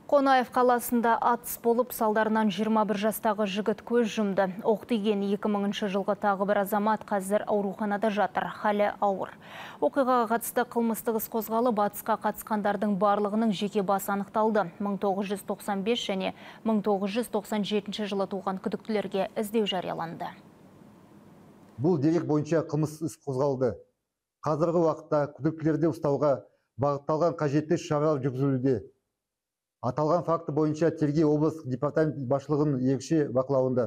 Қонаев қаласында атыс болып, салдарынан 21 жастағы жігіт көз жұмды. Оқ тиген 2000 жылғы тағы бір азамат қазір ауруханада жатыр, халі ауыр. Оқиғаға қатысты қылмыстық іс қозғалып, атысқа қатысқандардың барлығының жеке басы анықталды. 1995 және 1997 жылы туған күдіктілерге іздеу жарияланды. Бұл дерек бойынша қылмыстық іс қозғалды. Қазіргі уақытта күдіктілерді ұстауға бағытталған қажетті шаралар жүргізілуде. Аталған факті бойынша тергеу облыстық департамент басшылығының ерекше бақылауында.